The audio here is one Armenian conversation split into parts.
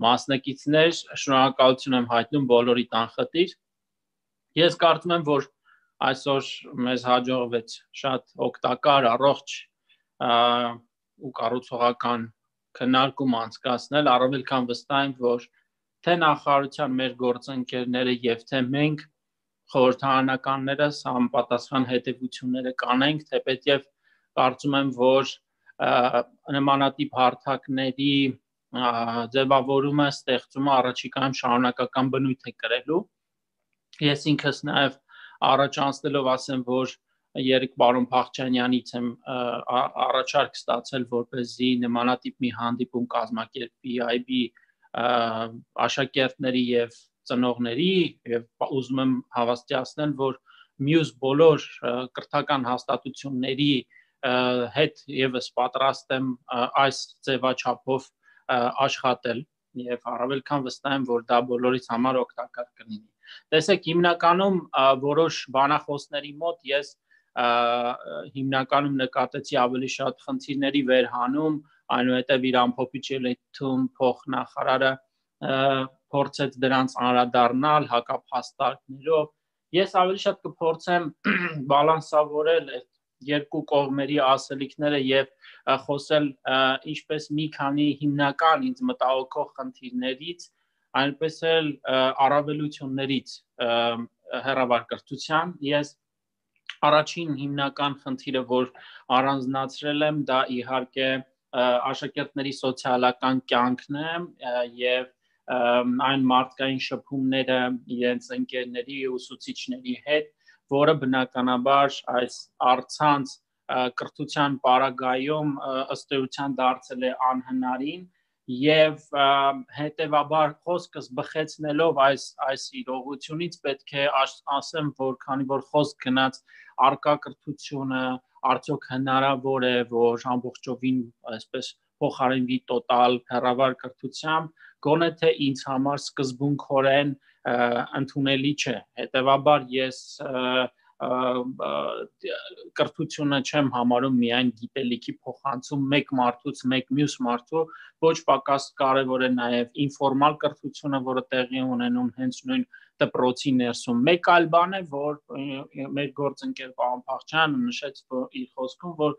մասնակիցներ, շնորհակալություն եմ հայտնում բոլորիդ անխտիր։ Ես կարծում եմ, որ այսօր մեզ հաջողվեց շատ օգտակար, առողջ ու կառուցողական քննարկում անցկացնել, առավել քան վստահ եմ, որ թե նախարարության մեր գործընկերները եւ թե մենք խորհրդարանականներս համապատասխան հետևությունները կանենք, թեպետև կարծում եմ, որ նմանատիպ հարթակների ձևավորումը, ստեղծումը առաջիկայում շարունակական բնույթ է կրելու։ Ես ինքս նաև առաջ անցնելով ասեմ, որ երեք պարոն Փախչյանյանից եմ առաջարկ ստացել, որպեսզի նմանատիպ մի հանդիպում կազմակերպի IB աշակերտների եւ ծնողների եւ ուզում եմ հավաստիացնել, որ մյուս բոլոր կրթական հաստատությունների հետ եւս պատրաստ եմ այս ձևաչափով աշխատել եւ առավել քան վստահ եմ, որ դա բոլորիս համար օգտակար կլինի։ Տեսեք, հիմնականում որոշ բանախոսների մոտ ես հիմնականում նկատեցի ավելի շատ խնդիրների վերհանում, այնուհետև իր ամփոփիչ ելույթում փոխնախարարը փորձեց դրանց անդրադառնալ հակափաստարկներով։ Ես ավելի շատ կփորձեմ բալանսավորել այդ երկու կողմերի ասելիքները եւ խոսել ինչպես մի քանի հիմնական ինձ մտահոգող խնդիրներից, այնպես էլ առավելություններից հեռավարկրթության։ Ես առաջին հիմնական խնդիրը, որ առանձնացրել եմ, դա իհարկե աշակերտների սոցիալական կյանքն է եւ այն մարդկային շփումները իրենց ընկերների ու ուսուցիչների հետ, որը բնականաբար այս առցանց կրթության պարագայում ըստ էության դարձել է անհնարին եւ հետեւաբար խոսքս բխեցնելով այս իրողությունից պետք է ասեմ, որ քանի որ խոսք գնաց արկա կրթությունը արդյոք հնարավոր է, որ ամբողջովին այսպես փոխարինվի տոտալ հեռավար կրթությամբ, գոնե թե ինձ համար սկզբունքորեն ընդունելի չէ։ Հետևաբար ես կրթությունը չեմ համարում միայն գիտելիքի փոխանցում մեկ մարդուց մեկ մյուս մարդու, ոչ պակաս կարևոր է նաև ինֆորմալ կրթությունը, որը տեղի ունենում հենց նույն դպրոցի ներսում։ Մեկ այլ բան է, որ մեր գործընկեր պարոն Փախչյանը նշեց իր խոսքում, որ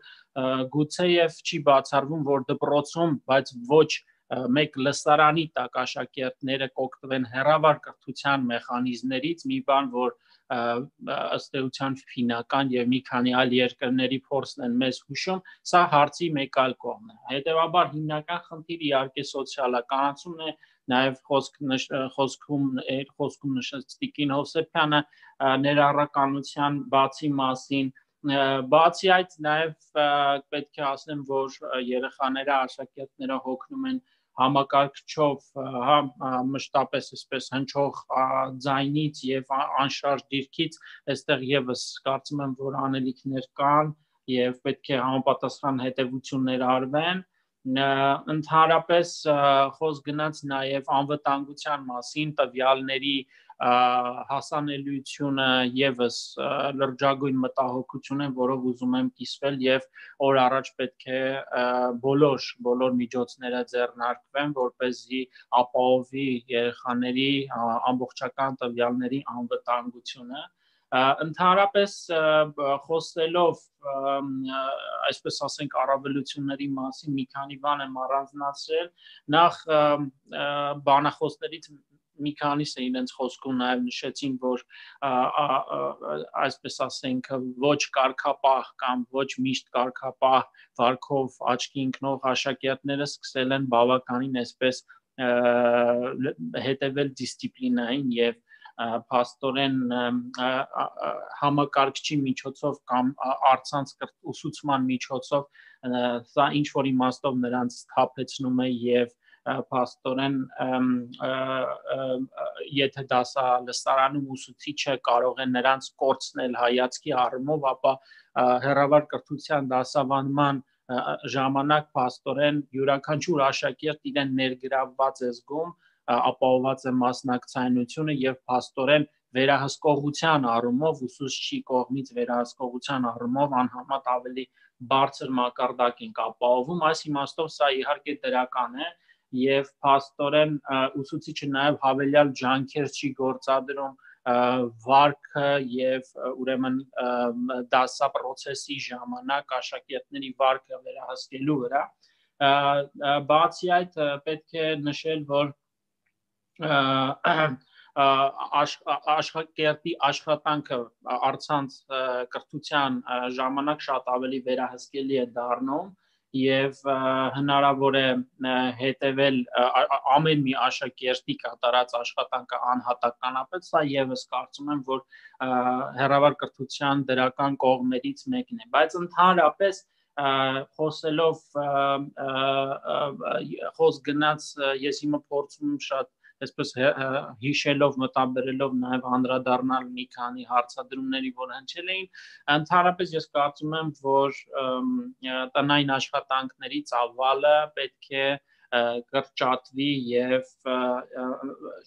գուցեև չի բացառվում, որ դպրոցում, բայց ոչ մեկ լսարանի տակ աշակերտները կօգտվեն հեռավար կրթության մեխանիզմներից, մի բան, որ ըստ էության ֆինական եւ մի քանի այլ երկրների փորձն են մեզ հուշում, սա հարցի մեկ այլ կողմն է։ Հետևաբար հիմնական խնդիրը իհարկե սոցիալականացումն է, նաև խոսքում նշեց Տիկին Հովսեփյանը ներառականության բացի մասին, բացի այդ նաև պետք է ասեմ, որ երեխաները, աշակերտները հոգնում են համակարգչով մշտապես այսպես հնչող ձայնից եւ անշարժ դիրքից, այստեղ եւս կարծում եմ, որ անելիքներ կան եւ պետք է համապատասխան հետևություններ արվեն։ Ընդհանրապես խոսք գնաց նաև անվտանգության մասին, տվյալների հասանելիությունը եւս լրջագույն մտահոգություն է, որով ուզում եմ կիսվել եւ օր առաջ պետք է բոլոր միջոցները ձեռնարկվեն, որպեսզի ապահովի երեխաների ամբողջական տվյալների անվտանգությունը։ Ընդհանրապես խոսելով այսպես ասենք առավելությունների մասին մի քանի բան եմ առանձնացրել, նախ բանախոսներից մի քանիսը իրենց խոսքում նաև նշեցին, որ այսպես ասենք ոչ կարգապահ կամ ոչ միշտ կարգապահ վարքով աչքի ընկնող աշակերտները սկսել են բավականին այսպես հետևել դիսցիպլինային եւ փաստորեն համակարգչի միջոցով կամ առցանց ուսուցման միջոցով սա ինչ որ իմաստով նրանց սթափեցնում է եւ փաստորեն եթե դասալսարանում ուսուցիչը կարող է նրանց կորցնել հայացքի առումով, ապա հեռավար կրթության դասավանդման ժամանակ փաստորեն յուրաքանչյուր աշակերտ իրեն ներգրավված է զգում, ապահովված է մասնակցայնությունը եւ փաստորեն վերահսկողության առումով ուսուցչի կողմից վերահսկողության առումով անհամեմատ ավելի բարձր մակարդակ ենք ապահովում, այս իմաստով սա իհարկե դրական է եւ փաստորեն ուսուցիչը նաեւ հավելյալ ջանքեր չի գործադրում վարքը եւ ուրեմն դասա process-ի ժամանակ աշակերտների վարքը վերահսկելու վրա բացի այդ պետք է նշել որ աշակերտի աշխատանքը առցանց կրթության ժամանակ շատ ավելի վերահսկելի է դառնում եւ հնարավոր է հետեւել ամեն մի աշակերտի կատարած աշխատանքը անհատականապես սա եւս կարծում եմ որ հեռավար կրթության դրական կողմերից մեկն է բայց ընդհանրապես խոսելով խոս գնաց ես հիմա փորձում եմ շատ այսպես հիշելով մտաբերելով նաև անդրադառնալ մի քանի հարցադրումների որ հնչել էին ընդհանրապես ես կարծում եմ որ տնային աշխատանքների ծավալը պետք է կրճատվի եւ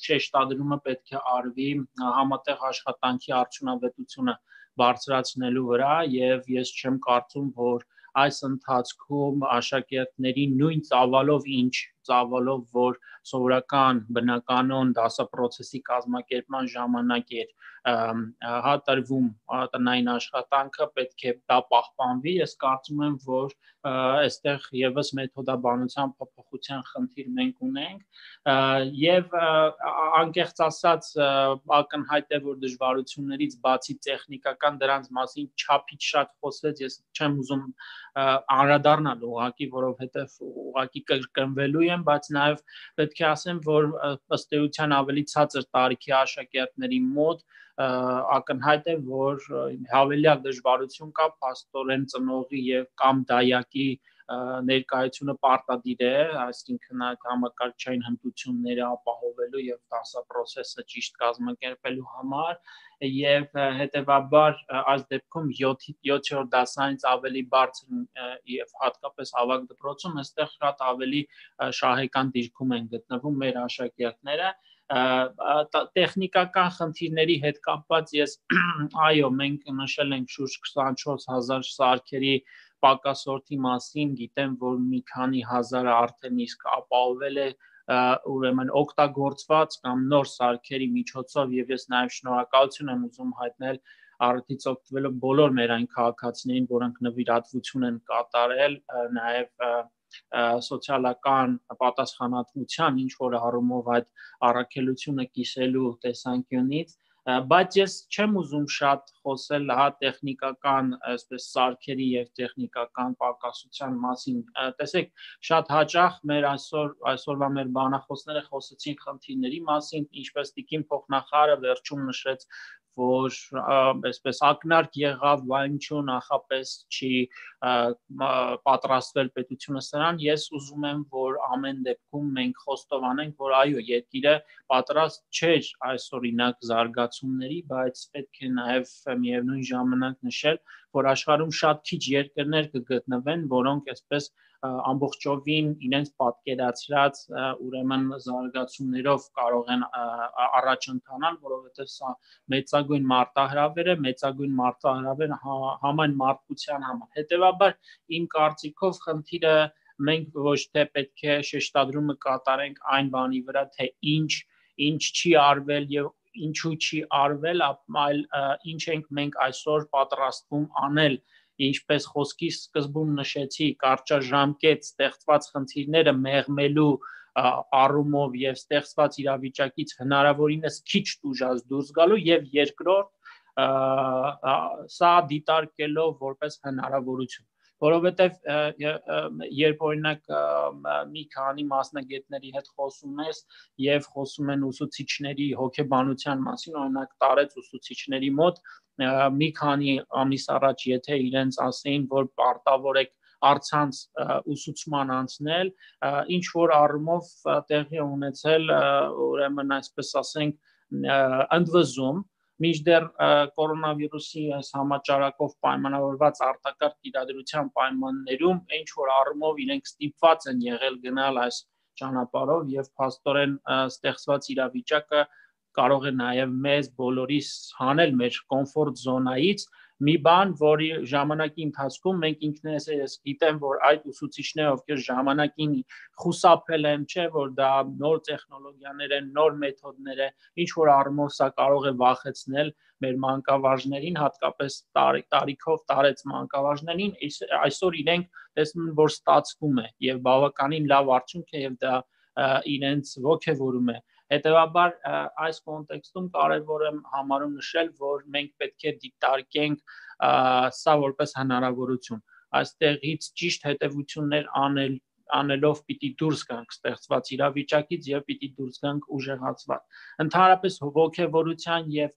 շեշտադրումը պետք է արվի համատեղ աշխատանքի արդյունավետությունը բարձրացնելու վրա եւ ես չեմ կարծում որ այս ընթացքում աշակերտների նույն ծավալով ինչ ծավալով որ սովորական բնականոն դասապրոցեսի կազմակերպման ժամանակ էր հատրվում տնային աշխատանքը պետք է դա պահպանվի ես կարծում եմ որ այստեղ եւս մեթոդաբանության փոփոխության խնդիր մենք ունենք եւ անկեղծ ասած ակնհայտ է որ դժվարություններից բացի տեխնիկական դրանց մասին չափից շատ խոսվեց ես չեմ ուզում անդրադառնալ ուղղակի որովհետեւ ուղղակի կրկնվելու եմ բայց նաեւ պետք է ասեմ որ ըստ էության ավելի ցածր տարիքի աշակերտների մոտ ակնհայտ է որ հավելյալ դժվարություն կա փաստորեն ծնողի եւ կամ դայակի ներկայությունը պարտադիր է այսինքն այդ համակարգչային հմտությունները ապահովելու եւ դասապրոցեսը ճիշտ կազմակերպելու համար եւ հետեւաբար այս դեպքում 7-րդ դասանից ավելի բարձր եւ հատկապես ավագ դպրոցում այստեղ շատ ավելի շահեկան դիրքում են գտնվում մեր աշակերտները տեխնիկական խնդիրների հետ կապված ես այո մենք նշել ենք շուրջ 24000 սարքերի պակասորթի մասին գիտեմ որ մի քանի հազարը արդեն իսկ ապահովել է ուրեմն օգտագործված կամ նոր սարքերի միջոցով եւ ես նաեւ շնորհակալություն եմ ուզում հայտնել արդից օգտվելով բոլոր մեր այն քաղաքացիներին որոնք նվիրատվություն են կատարել նաեւ սոցիալական պատասխանատվության ինչ որ առումով այդ առաքելությունը կիսելու տեսանկյունից բայց ես չեմ ուզում շատ խոսել հա տեխնիկական այսպես սարքերի եւ տեխնիկական պակասության մասին տեսեք շատ հաճախ մեր այսօրվա մեր բանախոսները խոսեցին խնդիրների մասին ինչպես տիկին փոխնախարարը վերջում նշեց որ այսպես ակնարկ եղավ վայնչուն նախապես չի պատրաստվել պետությունը սրան ես ուզում եմ որ ամեն դեպքում մենք խոստովանենք որ այո երկիրը պատրաստ չէր այս օրինակ զարգացումների բայց պետք է նաև միևնույն ժամանակ նշել որ աշխարհում շատ քիչ երկրներ կգտնվեն որոնք այսպես ամբողջովին իրենց պատկերացրած ուրեմն զարգացումներով կարող են առաջ ընթանալ որովհետև սա մեծագույն մարտահրավեր է մեծագույն մարտահրավեր համայն մարդկության համար հետեւաբար իմ կարծիքով խնդիրը մենք ոչ թե պետք է շեշտադրումը կատարենք այն բանի վրա թե ինչ չի արվել եւ ինչու չի արվել այլ ինչ ենք մենք այսօր պատրաստվում անել ինչպես խոսքի սկզբում նշեցի կարճաժամկետ ստեղծված խնդիրները մեղմելու առումով եւ ստեղծված իրավիճակից հնարավորինս քիչ տուժած դուրս գալու եւ երկրորդ սա դիտարկելով որպես հնարավորություն որովհետեւ երբ օրինակ մի քանի մասնագետների հետ խոսում ես եւ խոսում են ուսուցիչների հոգեբանության մասին օրինակ տարեց ուսուցիչների մոտ մի քանի ամիս առաջ եթե իրենց ասեին որ պարտավոր եք առցանց ուսուցման անցնել ինչ որ առումով տեղի ունեցել ուրեմն այսպես ասենք ընդվզում մինչդեռ կորոնավիրուսի այս համաճարակով պայմանավորված արտակարգ իրադրության պայմաններում ինչ որ առումով իրենք ստիպված են եղել գնալ այս ճանապարհով եւ փաստորեն ստեղծված իրավիճակը կարող է նաև մեզ բոլորիս հանել մեր կոմֆորտ զոնայից մի բան, որի ժամանակի ընթացքում մենք ինքներս ես գիտեմ, որ այդ ուսուցիչները, ովքեր ժամանակին խուսափել են, չէ, որ դա նոր տեխնոլոգիաներ են, նոր մեթոդներ են, ինչ որ առումով սա կարող է վախեցնել մեր մանկավարժներին, հատկապես տարիքով տարեց մանկավարժներին, այսօր իրենք տեսնում են, որ ստացվում է եւ բավականին լավ արդյունք է եւ դա իրենց ոգևորում է։ Հետևաբար այս կոնտեքստում կարևոր եմ համարում նշել, որ մենք պետք է դիտարկենք սա որպես հնարավորություն։ Այստեղից ճիշտ հետևություններ անելով պիտի դուրս գանք ստեղծված իրավիճակից եւ պիտի դուրս գանք ուժեղացված։ Ընդհանրապես ոգևորության եւ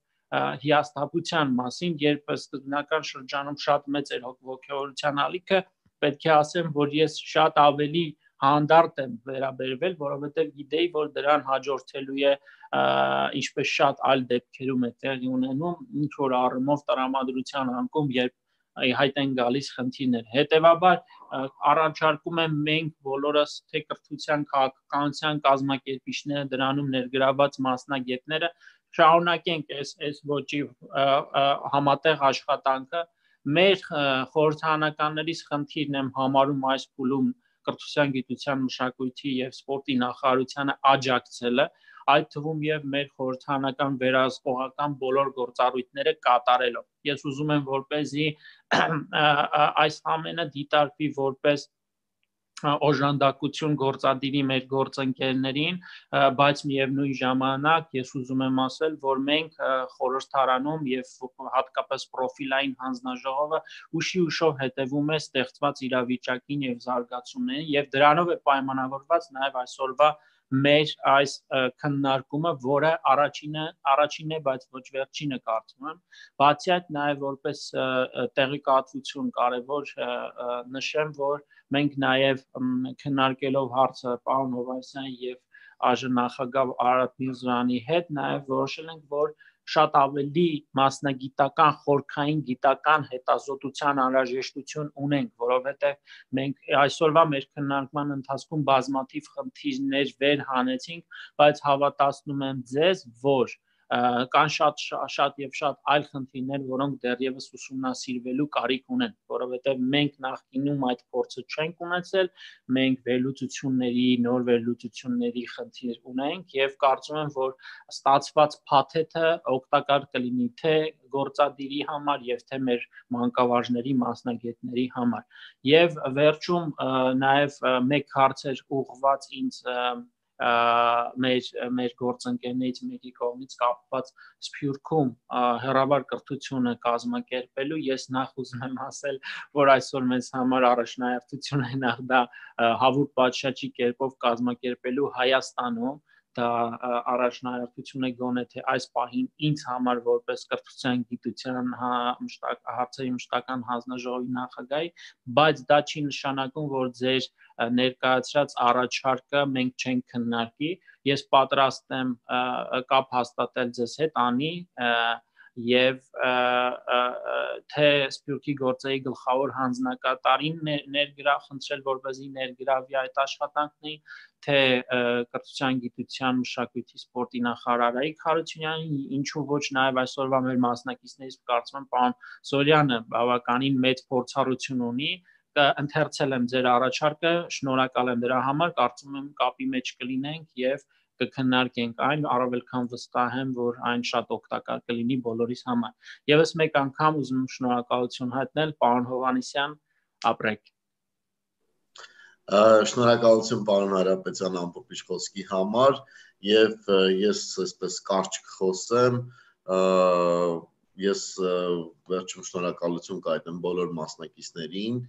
հիասթափության մասին, երբ սկզբնական շրջանում շատ մեծ էր ոգևորության ալիքը, պետք է ասեմ, որ ես շատ ավելի հանդարտ եմ վերաբերվել, որովհետև գիտեի, որ դրան հաջորդելու է ինչպես շատ այլ դեպքերում է տեղի ունենում, ինչ որ առումով տրամադրության անկում, երբ հայտ են գալիս խնդիրներ։ Հետևաբար առաջարկում եմ մենք բոլորս թե կրթության քաղաքականության կազմակերպիչները, դրանում ներգրավված մասնագետները շարունակենք այս ոճի համատեղ աշխատանքը։ Մեր խորհրդարանականներից խնդիրն եմ համարում այս փուլում կրթության, գիտության, մշակույթի եւ սպորտի նախարարությանը աջակցելը, այդ թվում եւ մեր խորհրդարանական վերահսկողական բոլոր գործառույթները կատարելով։ Ես ուզում եմ, որպեսզի այս ամենը դիտարկվի որպես օժանդակություն գործադիրի մեր գործընկերներին, բայց միևնույն ժամանակ ես ուզում եմ ասել, որ մենք խորհրդարանում եւ հատկապես պրոֆիլային հանձնաժողովը ուշով հետևում է ստեղծված իրավիճակին եւ զարգացումներին եւ դրանով է պայմանավորված նաեւ այսօրվա մեր այս քննարկումը, որը առաջինն է, բայց ոչ վերջինը կարծում եմ։ Բացի այդ նաեւ որպես տեղեկատվություն կարեւոր նշեմ, որ մենք նաև քննարկելով հարցը պարոն Հովհաննիսյանի եւ ԱԺ նախագահ Արարատ Միրզոյանի հետ նաև որոշել ենք, որ շատ ավելի մասնագիտական, խորքային գիտական հետազոտության անհրաժեշտություն ունենք, որովհետև մենք այսօրվա մեր քննարկման ընթացքում բազմաթիվ խնդիրներ վեր հանեցինք, բայց հավատացնում եմ ձեզ, որ կան շատ եւ շատ այլ խնդիրներ, որոնք դեռևս ուսումնասիրվելու կարիք ունեն, որովհետեւ մենք նախկինում այդ փորձը չենք ունեցել, մենք վերլուծությունների, նոր վերլուծությունների խնդիր ունենք եւ կարծում եմ, որ ստացված փաթեթը օգտակար կլինի թե գործադիրի համար եւ թե մեր մանկավարժների, մասնագետների համար։ Եվ վերջում նաեւ մեկ հարց էր ուղղված ինձ մեր գործընկերներից մեկի կողմից կապված Սփյուռքում հեռավար կրթությունը կազմակերպելու, ես նախ ուզում եմ ասել, որ այսօր մեզ համար առաջնահերթություն է նախ դա հավուր պատշաճի կերպով կազմակերպելու Հայաստանում, դա առաջնահերթություն է գոնե թե այս պահին ինձ համար որպես կրթության, գիտության հարցերի մշտական հանձնաժողովի նախագահի, բայց դա չի նշանակում, որ ձեր ներկայացրած առաջարկը մենք չենք քննարկի, ես պատրաստ եմ կապ հաստատել ձեզ հետ անի եւ թե Սփյուռքի գործերի գլխավոր հանձնակատարին խնդրել, որպեսզի ներգրավի այդ աշխատանքներին, թե կրթության, գիտության, մշակույթի, սպորտի նախարար Արայիկ Հարությունյանին, ինչու ոչ նաեւ այսօրվա մեր մասնակիցներից կարծում եմ պարոն Զորյանը բավականին մեծ փորձառություն ունի, ընթերցել եմ ձեր առաջարկը, շնորհակալ եմ դրա համար, կարծում եմ կապի մեջ կլինենք եւ կքննարկենք այն, առավել քան վստահ եմ, որ այն շատ օգտակար կլինի բոլորիս համար։ Եվս մեկ անգամ ուզում եմ շնորհակալություն հայտնել, պարոն Հովհաննիսյան, ապրեք։ Շնորհակալություն պարոն Հարապետյան ամփոփիչ խոսքի համար եւ ես այսպես կարճ կխոսեմ, ես վերջում շնորհակալություն կհայտնեմ բոլոր մասնակիցներին